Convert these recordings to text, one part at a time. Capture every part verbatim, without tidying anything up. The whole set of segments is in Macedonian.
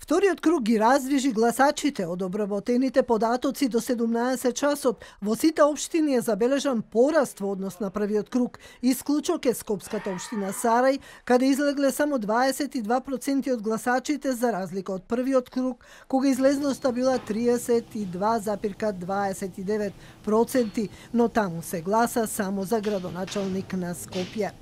Вториот круг ги раздвижи гласачите од обработените податоци до седумнаесет часот. Во сите општини е забележан пораст во однос на првиот круг. Исклучок е Скопската општина Сарај, каде излегле само дваесет и два проценти од гласачите за разлика од првиот круг, кога излезноста била триесет и два запирка дваесет и девет проценти, но таму се гласа само за градоначалник на Скопје.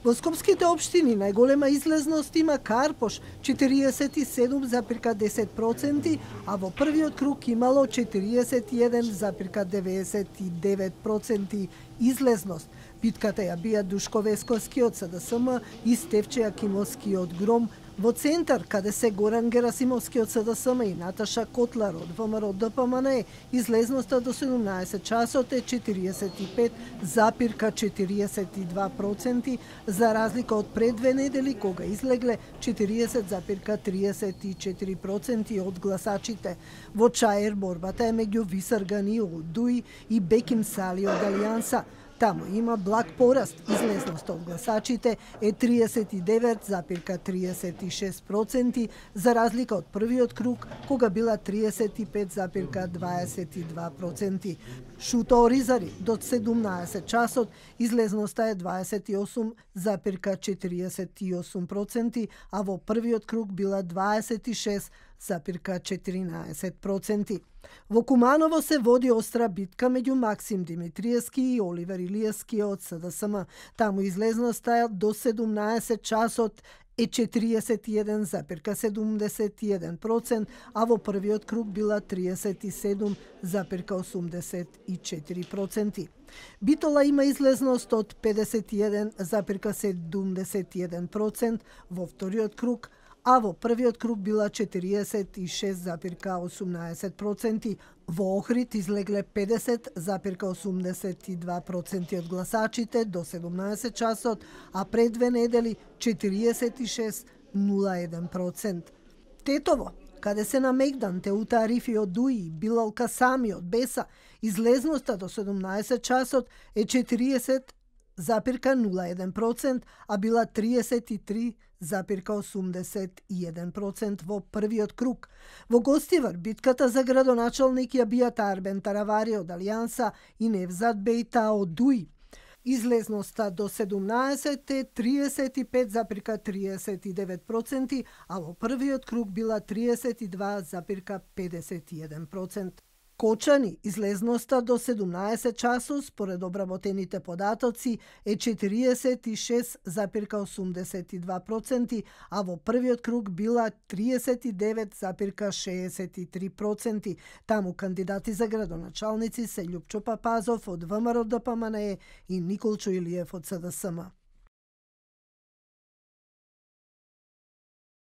Во скопските општини најголема излезност има Карпош четириесет и седум запирка десет проценти, а во првиот круг имало четириесет и еден запирка деветдесет и девет проценти излезност. Битката ја бија Душко Весковски од СДСМ и Стефче Јакимовски од Гром. Во центар, каде се Горан Герасимовски од СДСМ и Наташа Котлар од ВМРО ДПМНЕ, излезноста до седумнаесет часот е четириесет и пет запирка четириесет и два проценти, за разлика од пред две недели, кога излегле четириесет запирка триесет и четири проценти од гласачите. Во Чаер борбата е меѓу Висар Ганио од Дуи и Беким Сали од Алијанса. Таму има благ пораст. Излезноста од гласачите е триесет и девет запирка триесет и шест проценти, за разлика од првиот круг, кога била триесет и пет запирка дваесет и два проценти. Шуто Оризари до седумнаесет часот излезноста е дваесет и осум запирка четириесет и осум проценти, а во првиот круг била дваесет и шест запирка четиринаесет проценти. Во Куманово се води остра битка меѓу Максим Димитриевски и Оливер Илиевски од СДСМ. Таму излезноста до седумнаесет часот е четириесет и еден запирка седумдесет и еден проценти, а во првиот круг била триесет и седум запирка осумдесет и четири проценти. Битола има излезност од педесет и еден запирка седумдесет и еден проценти во вториот круг, а во првиот круг била четириесет и шест запирка осумнаесет проценти. Во Охрид излегле педесет запирка осумдесет и два проценти од гласачите до седумнаесет часот, а пред две недели четириесет и шест запирка нула еден проценти. Тетово, каде се на Мегдан, Теута Арифи од Дуи, Билал Касами од Беса, излезноста до седумнаесет часот е четириесет запирка нула еден проценти, а била триесет и три запирка осумдесет и еден проценти во првиот круг. Во Гостивар битката за градоначалник ја бијат Арбен Таравари од Алијанса и Невзат Бејта од Дуи. Излезноста до седумнаесет е триесет и пет запирка триесет и девет проценти, а во првиот круг била триесет и два запирка педесет и еден проценти. Кочани, излезноста до седумнаесет часот според обработените податоци е четириесет и шест запирка осумдесет и два проценти, а во првиот круг била триесет и девет запирка шеесет и три проценти. Таму кандидати за градоначалници се Љупчо Папазов од ВМРО ДПМНЕ и Николчо Илиев од СДСМ.